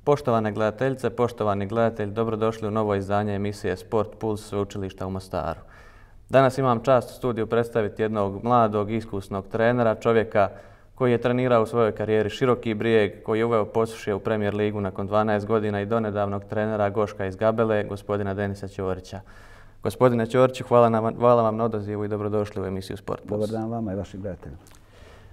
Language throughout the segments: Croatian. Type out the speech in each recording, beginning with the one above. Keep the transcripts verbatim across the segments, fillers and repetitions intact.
Poštovane gledateljice, poštovani gledatelji, dobrodošli u novo izdanje emisije Sport Puls Sveučilišta u Mostaru. Danas imam čast u studiju predstaviti jednog mladog, iskusnog trenera, čovjeka koji je trenirao u svojoj karijeri Široki Brijeg, koji je uveo Posušje u Premier ligu nakon dvanaest godina i donedavnog trenera Goška iz Gabele, gospodina Denisa Ćorića. Gospodine Ćoriću, hvala, nam, hvala vam na odazivu i dobrodošli u emisiju Sport Puls. Dobar dan vama i vašim gledateljima.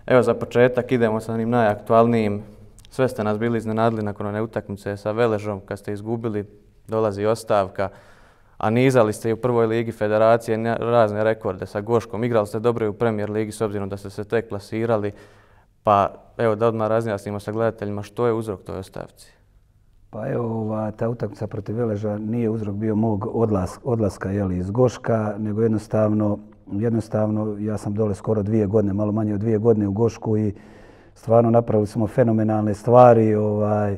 Evo za početak idemo sa onim najaktualnijim. Sve ste nas bili iznenadili nakon one utakmice sa Veležom kad ste izgubili, dolazi ostavka, a nizali ste i u prvoj ligi federacije razne rekorde sa Goškom. Igrali ste dobro i u Premier ligi s obzirom da ste se tek klasirali. Pa evo da odmah razjasnimo sa gledateljima što je uzrok toj ostavci. Pa evo, ova, ta utakmica protiv Veleža nije uzrok bio mog odlas, odlaska jeli, iz Goška, nego jednostavno, jednostavno ja sam dole skoro dvije godine, malo manje od dvije godine u Gošku i stvarno napravili smo fenomenalne stvari, ovaj,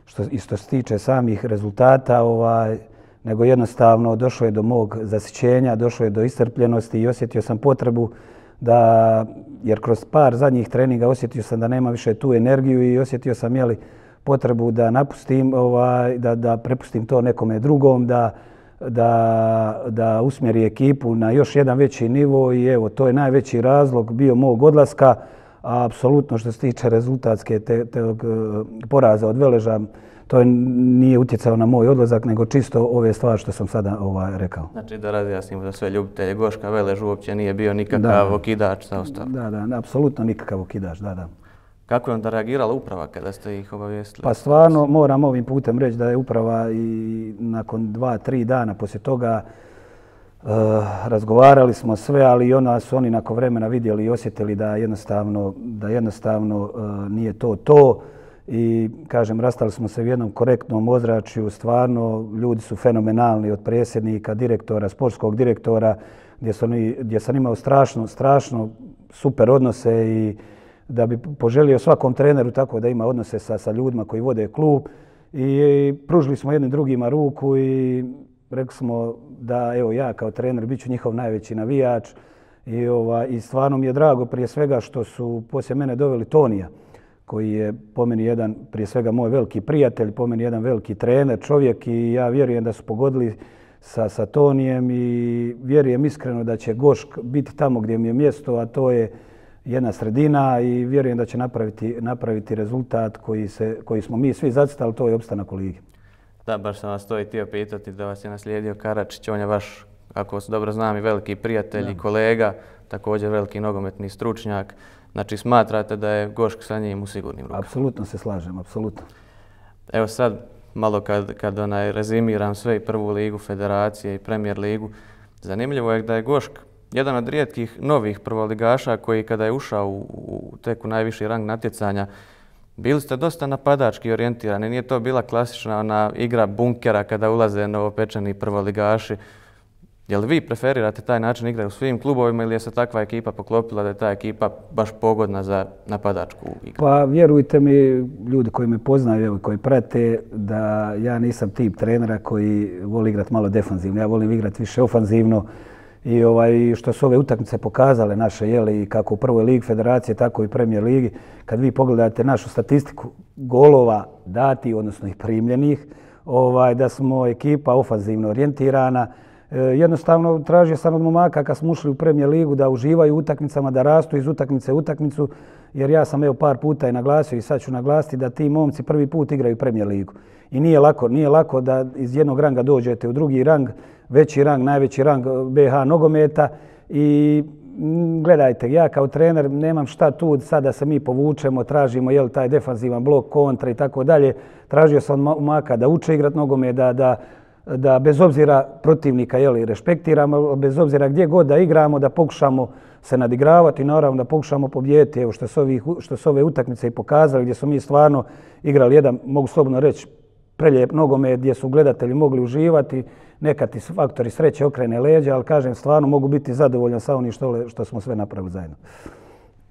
što, i što se tiče samih rezultata, ovaj, nego jednostavno došlo je do mog zasićenja, došlo je do iscrpljenosti i osjetio sam potrebu da, jer kroz par zadnjih treninga osjetio sam da nema više tu energiju i osjetio sam jeli, potrebu da napustim, ovaj, da, da prepustim to nekome drugom, da, da, da usmjeri ekipu na još jedan veći nivo i evo, to je najveći razlog bio mog odlaska. A apsolutno što se tiče rezultatske te, te, poraza od Veleža, to nije utjecao na moj odlazak, nego čisto ove stvari što sam sada ovaj, rekao. Znači da razjasnimo za sve ljubitelje, Goška Velež uopće nije bio nikakav da, okidač sa ostavkom. Da, da, apsolutno nikakav okidač, da, da. Kako je onda reagirala uprava kada ste ih obavijestili? Pa stvarno moram ovim putem reći da je uprava i nakon dva, tri dana poslije toga Uh, razgovarali smo sve, ali i onda su oni nakon vremena vidjeli i osjetili da jednostavno, da jednostavno uh, nije to to. I kažem, rastali smo se u jednom korektnom ozračju, stvarno ljudi su fenomenalni od predsjednika, direktora, sportskog direktora, gdje, su oni, gdje sam imao strašno, strašno super odnose i da bi poželio svakom treneru tako da ima odnose sa, sa ljudima koji vode klub. I, i pružili smo jednim drugima ruku i rekli smo da evo ja kao trener bit ću njihov najveći navijač i, ova, i stvarno mi je drago prije svega što su poslije mene doveli Tonija koji je po meni jedan prije svega moj veliki prijatelj, po meni jedan veliki trener, čovjek i ja vjerujem da su pogodili sa, sa Tonijem i vjerujem iskreno da će Gošk biti tamo gdje mi je mjesto, a to je jedna sredina i vjerujem da će napraviti, napraviti rezultat koji, se, koji smo mi svi zacrtali, to je opstanak u ligi. Da, baš sam vas to i htio pitati da vas je naslijedio Karačić. On je vaš, ako se dobro znam, i veliki prijatelj i kolega, također veliki nogometni stručnjak. Znači smatrate da je Gošk sa njim u sigurnim rukama? Apsolutno se slažem, apsolutno. Evo sad, malo kad, kad onaj rezimiram sve i prvu ligu federacije i Premier ligu, zanimljivo je da je Gošk jedan od rijetkih novih prvoligaša koji kada je ušao u, u tek u najviši rang natjecanja, bili ste dosta napadački orijentirani, nije to bila klasična ona igra bunkera kada ulaze novopečeni prvoligaši. Je li vi preferirate taj način igre u svim klubovima ili je se takva ekipa poklopila da je ta ekipa baš pogodna za napadačku igru? Pa vjerujte mi, ljudi koji me poznaju i koji prate, da ja nisam tip trenera koji voli igrati malo defanzivno. Ja volim igrati više ofanzivno. I ovaj, što su ove utakmice pokazale naše, jeli, kako u prvoj ligi federacije, tako i Premier ligi, kad vi pogledate našu statistiku golova dati, odnosno ih primljenih, ovaj, da smo ekipa ofanzivno orijentirana. E, jednostavno tražio sam od momaka kad smo ušli u Premier ligu da uživaju u utakmicama, da rastu iz utakmice u utakmicu, jer ja sam evo par puta i naglasio i sad ću naglasiti da ti momci prvi put igraju Premier ligu. I nije lako, nije lako da iz jednog ranga dođete u drugi rang, veći rang, najveći rang B H nogometa i gledajte, ja kao trener nemam šta tu sad da se mi povučemo, tražimo jel, taj defanzivan blok, kontra i tako dalje. Tražio sam od momaka da uče igrat nogomet, da, da, da bez obzira protivnika jel, respektiramo, bez obzira gdje god da igramo, da pokušamo se nadigravati i naravno da pokušamo pobijediti. Evo što su, ovih, što su ove utakmice i pokazali gdje smo mi stvarno igrali jedan, mogu slobodno reći, prelijep nogomet gdje su gledatelji mogli uživati, nekad ti faktori sreće okrene leđa, ali kažem stvarno mogu biti zadovoljan sa onim što, što smo sve napravili zajedno.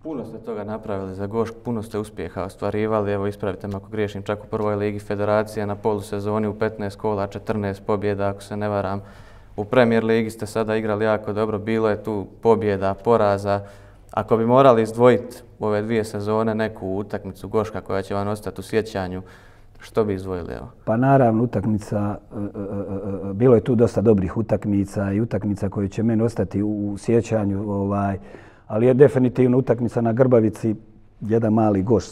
Puno ste toga napravili za Gošk, puno ste uspjeha ostvarivali, evo ispravite me ako griješim, čak u prvoj ligi federacije na polusezoni u petnaest kola, četrnaest pobjeda ako se ne varam. U Premier ligi ste sada igrali jako dobro, bilo je tu pobjeda, poraza. Ako bi morali izdvojiti u ove dvije sezone neku utakmicu Goška koja će vam ostati u sjećanju, Što bi izdvojili? Evo? Pa naravno utakmica, bilo je tu dosta dobrih utakmica i utakmica koje će meni ostati u sjećanju, ovaj, ali je definitivno utakmica na Grbavici, jedan mali goš,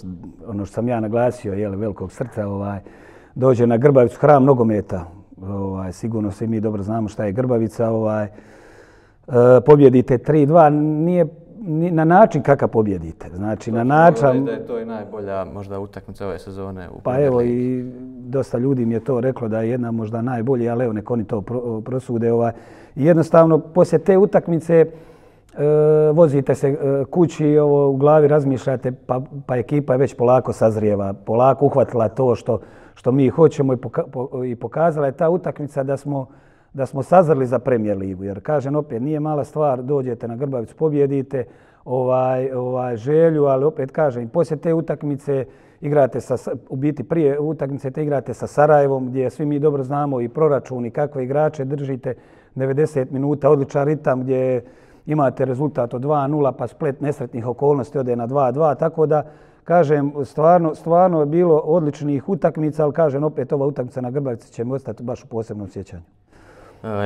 ono što sam ja naglasio, jel, velikog srca, ovaj, dođe na Grbavicu, hram nogometa, ovaj, sigurno svi mi dobro znamo šta je Grbavica, ovaj, pobjedite tri dva, nije na način kakav pobjedite. Znači, na način... Da je to i najbolja možda utakmica ove sezone u Pa evo i dosta ljudi mi je to reklo da je jedna možda najbolja, ali evo nek oni to prosude. Ovaj. I jednostavno, poslije te utakmice e, vozite se e, kući, ovo, u glavi razmišljate, pa, pa ekipa je već polako sazrijeva, polako uhvatila to što, što mi hoćemo i, poka, po, i pokazala je ta utakmica da smo da smo sazrli za Premier ligu. Jer, kažem, opet, nije mala stvar, dođete na Grbavicu, pobjedite ovaj, ovaj, želju, ali opet, kažem, poslije te utakmice igrate sa, u biti prije utakmice te igrate sa Sarajevom, gdje svi mi dobro znamo i proračun i kakve igrače držite devedeset minuta, odličan ritam gdje imate rezultat od dva nula, pa splet nesretnih okolnosti ode na dva dva, tako da, kažem, stvarno, stvarno je bilo odličnih utakmica, ali, kažem, opet, ova utakmica na Grbavici će mi ostati baš u posebnom sjećanju.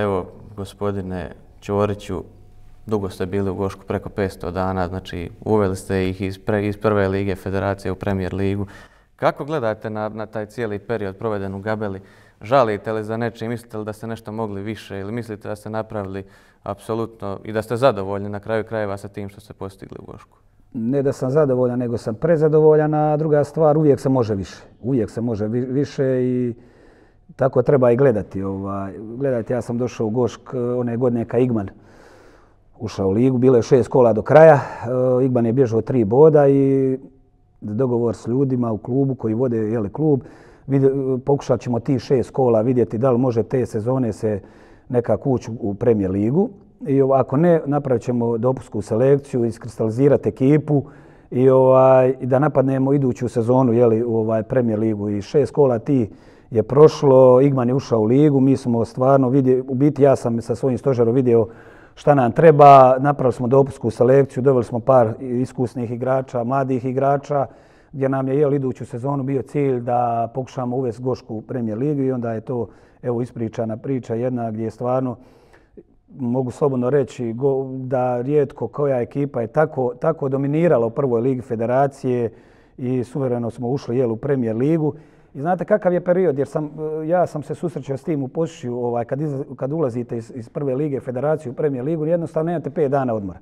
Evo, gospodine Ćoriću, dugo ste bili u Gošku, preko petsto dana, znači uveli ste ih iz, pre, iz prve lige federacije u Premier ligu. Kako gledate na, na taj cijeli period proveden u Gabeli? Žalite li za nečim? Mislite li da ste nešto mogli više ili mislite da ste napravili apsolutno i da ste zadovoljni na kraju krajeva sa tim što ste postigli u Gošku? Ne da sam zadovoljan, nego sam prezadovoljan, a druga stvar, uvijek se može više. Uvijek se može više i tako treba i gledati. Ovaj, gledajte, ja sam došao u Gošk one godine kad Igman ušao u ligu. Bilo je šest kola do kraja. Igman je bježao tri boda i dogovor s ljudima u klubu koji vode jeli, klub. Pokušat ćemo ti šest kola vidjeti da li može te sezone se nekako ući u Premier ligu. I ako ne, napravit ćemo dopusku selekciju, iskristalizirati ekipu i, ovaj, i da napadnemo iduću sezonu jeli, u ovaj Premier ligu. I šest kola ti je prošlo, Igman je ušao u ligu, mi smo stvarno vidjeli, u biti ja sam sa svojim stožerom vidio šta nam treba, napravili smo dopusku selekciju, doveli smo par iskusnih igrača, mladih igrača, gdje nam je jel, iduću sezonu bio cilj da pokušamo uvesti Gošku u Premier ligu i onda je to evo ispričana priča jedna gdje je stvarno, mogu slobodno reći, go, da rijetko koja ekipa je tako, tako dominirala u prvoj ligi federacije i suvereno smo ušli jel, u Premier ligu. I znate kakav je period, jer sam, ja sam se susrećao s tim u Pošiću, ovaj, kad, iz, kad ulazite iz, iz prve lige federacije u Premier ligu, jednostavno nemate pet dana odmora.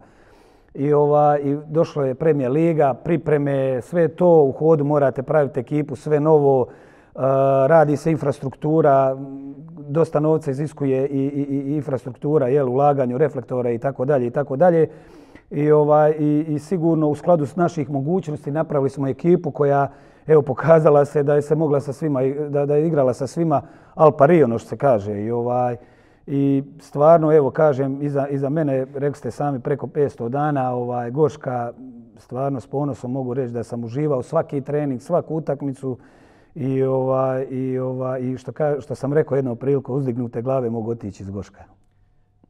I, ovaj, I došlo je Premier liga, pripreme, sve to u hodu morate praviti ekipu, sve novo, uh, radi se infrastruktura, dosta novca iziskuje i, i, i infrastruktura, jel, ulaganju, reflektora i tako dalje i tako dalje. I, ovaj, i, i sigurno u skladu s naših mogućnosti napravili smo ekipu koja evo pokazala se da je se mogla sa svima, da, da je igrala sa svima al pari, ono što se kaže. I, ovaj, i stvarno, evo kažem, iza, iza mene, rekli ste sami, preko petsto dana, ovaj, Goška, stvarno s ponosom mogu reći da sam uživao svaki trening, svaku utakmicu i, ovaj, i, ovaj, i što, ka, što sam rekao jednom priliku, uzdignute glave mogu otići iz Goška.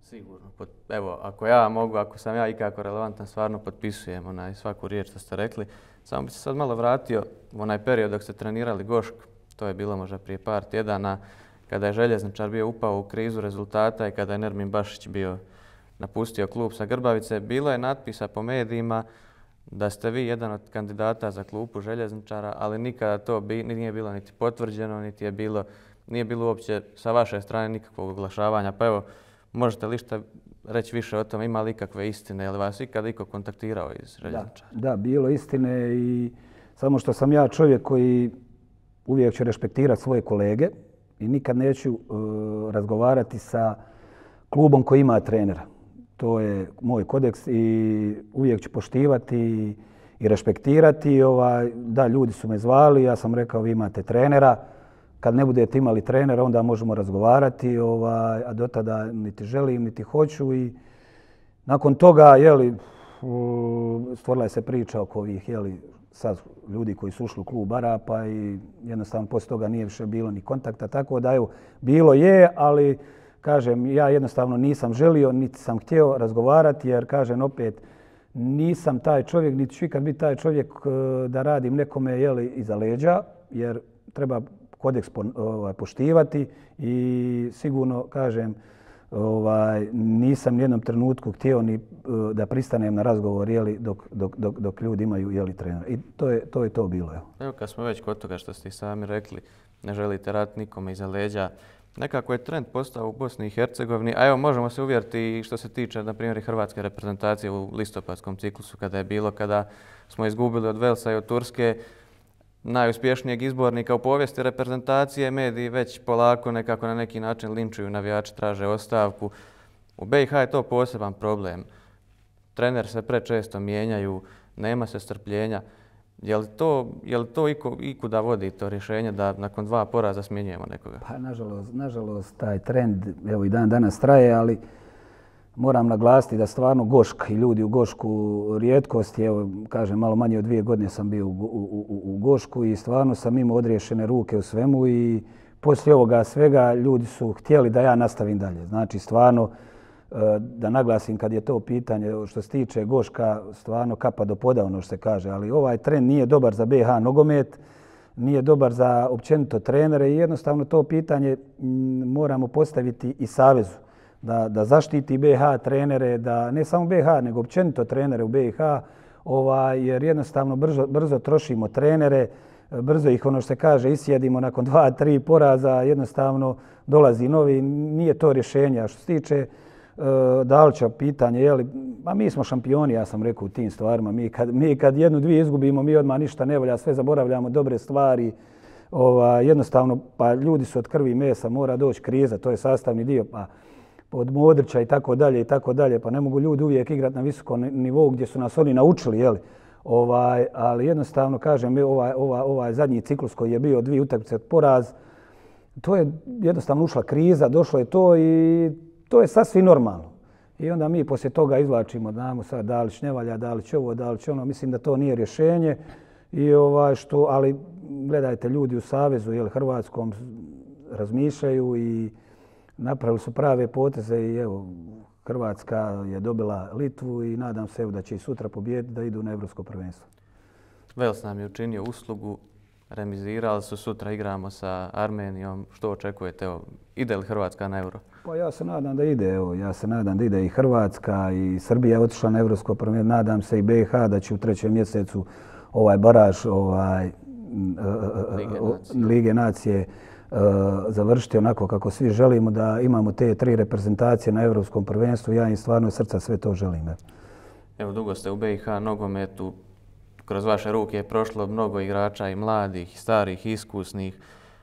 Sigurno. Evo, ako ja mogu, ako sam ja ikako relevantan, stvarno potpisujem onaj svaku riječ što ste rekli. Samo bi se sad malo vratio u onaj period dok ste trenirali Gošk, to je bilo možda prije par tjedana, kada je Željezničar bio upao u krizu rezultata i kada je Nermin Bašić bio napustio klub sa Grbavice. Bilo je natpisa po medijima da ste vi jedan od kandidata za klupu Željezničara, ali nikada to bi, nije bilo niti potvrđeno, niti je bilo, nije bilo uopće sa vaše strane nikakvog oglašavanja. Pa evo, možete li šta reći više o tom, ima li ikakve istine, je li vas ikada iko kontaktirao iz Željezničara? Da, da, bilo istine i samo što sam ja čovjek koji uvijek će respektirati svoje kolege i nikad neću uh, razgovarati sa klubom koji ima trenera. To je moj kodeks i uvijek ću poštivati i, i respektirati. Ovaj, da, ljudi su me zvali, ja sam rekao vi imate trenera. Kad ne budete imali trenera, onda možemo razgovarati, ovaj, a do tada niti želim, niti hoću. I nakon toga, jeli, stvorila je se priča oko ovih, jeli, sad ljudi koji su ušli u klub Arapa i jednostavno poslije toga nije više bilo ni kontakta. Tako da, evo, bilo je, ali, kažem, ja jednostavno nisam želio, niti sam htio razgovarati, jer, kažem, opet, nisam taj čovjek, niti ću ikad biti taj čovjek da radim nekome, jeli, iza leđa, jer treba kodeks ovaj, poštivati i sigurno, kažem, ovaj, nisam nijednom trenutku htio ni da pristanem na razgovor jeli, dok, dok, dok, dok ljudi imaju jeli, trenera. I to je to, je to bilo. Evo. Evo kad smo već kod toga što ste sami rekli, ne želite rat nikome iza leđa. Nekako je trend postao u Bosni i Hercegovini, a evo možemo se uvjeriti i što se tiče, na primjer, hrvatske reprezentacije u listopadskom ciklusu kada je bilo, kada smo izgubili od Velsa i od Turske, najuspješnijeg izbornika u povijesti reprezentacije, mediji već polako nekako na neki način linčuju, navijači traže ostavku. U B i H je to poseban problem. Trener se prečesto mijenjaju, nema se strpljenja. Je li to, je li to iko, ikuda vodi to rješenje da nakon dva poraza smjenjujemo nekoga? Pa nažalost, nažalost taj trend evo i dan danas traje, ali moram naglasiti da stvarno Gošk i ljudi u Gošku rijetkost je, evo kažem malo manje od dvije godine sam bio u, u, u, u Gošku i stvarno sam imao odriješene ruke u svemu i poslije ovoga svega ljudi su htjeli da ja nastavim dalje. Znači stvarno da naglasim kad je to pitanje što se tiče Goška, stvarno kapa do poda ono što se kaže, ali ovaj trend nije dobar za B i H nogomet, nije dobar za općenito trenere i jednostavno to pitanje moramo postaviti i Savezu da, da zaštiti B i H trenere, da ne samo B i H nego općenito trenere u B i H, ovaj, jer jednostavno brzo, brzo trošimo trenere, brzo ih ono što se kaže isjedimo nakon dva, tri poraza, jednostavno dolazi novi, nije to rješenje. A što se tiče Dalića pitanje, je li, a mi smo šampioni, ja sam rekao u tim stvarima, mi kad, mi kad jednu, dvije izgubimo, mi odmah ništa ne volja, sve zaboravljamo, dobre stvari, ova, jednostavno, pa ljudi su od krvi i mesa, mora doći kriza, to je sastavni dio, pa od Modrića i tako dalje i tako dalje, pa ne mogu ljudi uvijek igrati na visokom nivou gdje su nas oni naučili, je li, ovaj, ali jednostavno, kažem, ovaj, ovaj, ovaj zadnji ciklus koji je bio dvije utakmice od poraz, to je jednostavno ušla kriza, došlo je to i to je sasvim normalno. I onda mi poslije toga izvlačimo, znamo sad Dalić ne valja, Dalić ovo, Dalić ono. Mislim da to nije rješenje. I ovaj što, ali gledajte, ljudi u Savezu jel, Hrvatskom razmišljaju i napravili su prave poteze i evo, Hrvatska je dobila Litvu i nadam se evo, da će i sutra pobijediti da idu na Evropsko prvenstvo. Vels nam je učinio uslugu, remizirali su, sutra igramo sa Armenijom. Što očekujete? Evo, ide li Hrvatska na Euro? Pa ja se nadam da ide, evo, ja se nadam da ide i Hrvatska i Srbija je otišla na Evropsko prvenstvo, nadam se i B i H da će u trećem mjesecu ovaj baraž ovaj, Lige nacije, Lige nacije uh, završiti onako kako svi želimo, da imamo te tri reprezentacije na Evropskom prvenstvu. Ja im stvarno srca sve to želim. Evo, evo dugo ste u B i H nogometu, kroz vaše ruke je prošlo mnogo igrača i mladih, i starih, i iskusnih.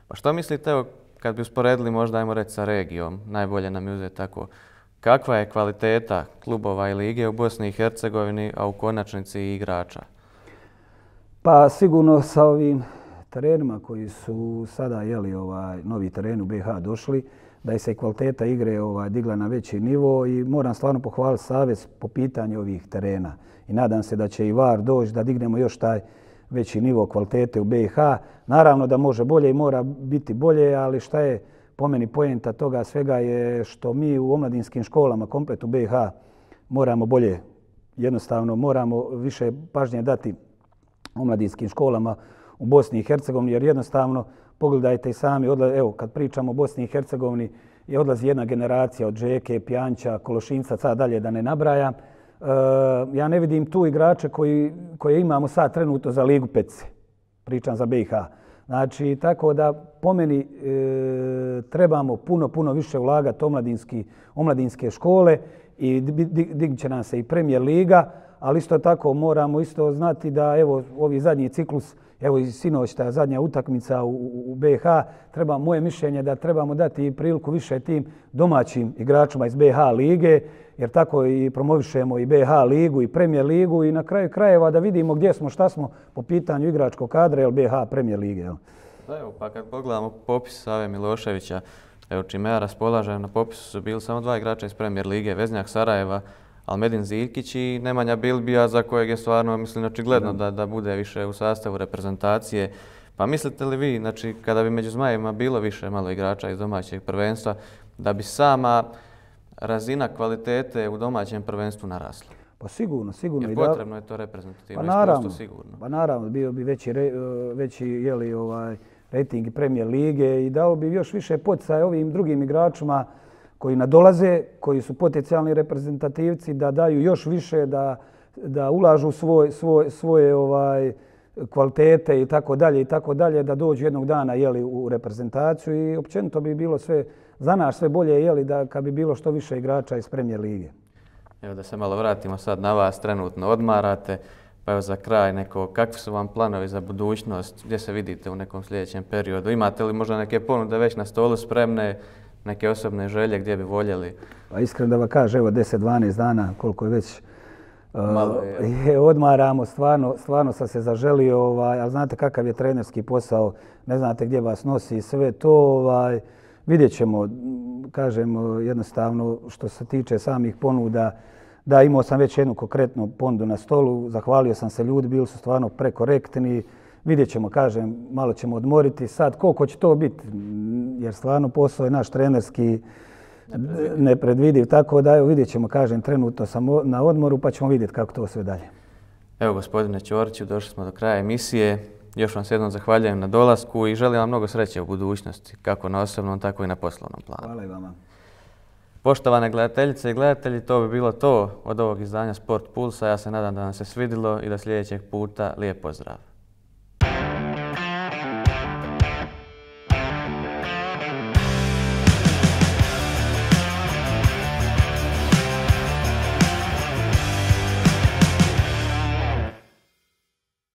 Pa što mislite, evo, kad bi usporedili možda, ajmo reći, sa regijom, najbolje nam je uzeti tako, kakva je kvaliteta klubova i lige u Bosni i Hercegovini, a u konačnici i igrača? Pa sigurno sa ovim terenima koji su sada jeli, ovaj, novi tereni u B i H došli, da je se kvaliteta igre ovaj, digla na veći nivo i moram stvarno pohvaliti Savez po pitanju ovih terena. I nadam se da će i V A R doći da dignemo još taj veći nivo kvalitete u B i H. Naravno da može bolje i mora biti bolje, ali šta je po meni poenta toga svega je što mi u omladinskim školama, komplet u B i H, moramo bolje, jednostavno moramo više pažnje dati omladinskim školama u Bosni i Hercegovini, jer jednostavno, pogledajte i sami, evo kad pričamo o Bosni i Hercegovini, je odlazi jedna generacija od Žeke, Pjanča, Kološinca, sad dalje da ne nabrajam. Uh, ja ne vidim tu igrače koji, koje imamo sad trenutno za Ligu Petice. Pričam za B i H. Znači, tako da po meni e, trebamo puno, puno više ulagati omladinski, omladinske škole i dignut će nam se i Premier Liga, ali isto tako moramo isto znati da evo ovi zadnji ciklus, evo i sinoć ta zadnja utakmica u, u B i H, treba, moje mišljenje da trebamo dati priliku više tim domaćim igračima iz B i H lige, jer tako i promovišemo i B i H ligu i Premier ligu i na kraju krajeva da vidimo gdje smo, šta smo po pitanju igračkog kadra ili B i H Premier lige. Jel? Da, evo, pa kad pogledamo popis Save Miloševića, evo čime ja raspolažem, na popisu su bili samo dva igrača iz Premier lige, Veznjak Sarajeva, Almedin Ziljkić i Nemanja Bilbija, za kojeg je stvarno, mislim, očigledno da, da bude više u sastavu reprezentacije. Pa mislite li vi, znači, kada bi među Zmajevima bilo više malo igrača iz domaćeg prvenstva, da bi sama razina kvalitete u domaćem prvenstvu narasla? Pa sigurno, sigurno. Jer potrebno je to reprezentativno pa naravno, iskustvo, sigurno. Pa naravno, bio bi veći, veći jeli, ovaj, rejting Premier lige i dao bi još više poticaja ovim drugim igračima koji nadolaze, koji su potencijalni reprezentativci, da daju još više, da, da ulažu svoj, svoj, svoje ovaj, kvalitete i tako dalje i tako dalje, da dođu jednog dana jeli, u reprezentaciju i općenito bi bilo sve za nas sve bolje jeli, da kad bi bilo što više igrača iz Premier lige. Evo da se malo vratimo sad na vas, trenutno odmarate, pa evo za kraj neko, kakvi su vam planovi za budućnost, gdje se vidite u nekom sljedećem periodu? Imate li možda neke ponude već na stolu spremne, neke osobne želje gdje bi voljeli? Pa iskreno da vam kažem, evo deset dvanaest dana koliko je već Malo je. je odmaramo, stvarno, stvarno sam se zaželio, ovaj, ali znate kakav je trenerski posao, ne znate gdje vas nosi i sve to, ovaj, vidjet ćemo, kažem jednostavno što se tiče samih ponuda, da imao sam već jednu konkretnu ponudu na stolu, zahvalio sam se ljudi, bili su stvarno prekorektni, vidjet ćemo, kažem, malo ćemo odmoriti sad, koliko će to biti, jer stvarno posao je naš trenerski nepredvidiv, tako da evo vidjet ćemo, kažem, trenutno sam na odmoru pa ćemo vidjeti kako to sve dalje. Evo gospodine Ćoriću, došli smo do kraja emisije. Još vam se jednom zahvaljujem na dolasku i želim vam mnogo sreće u budućnosti, kako na osobnom, tako i na poslovnom planu. Hvala i vama. Poštovane gledateljice i gledatelji, to bi bilo to od ovog izdanja Sport Pulsa. Ja se nadam da vam se svidilo i do sljedećeg puta lijep pozdrav.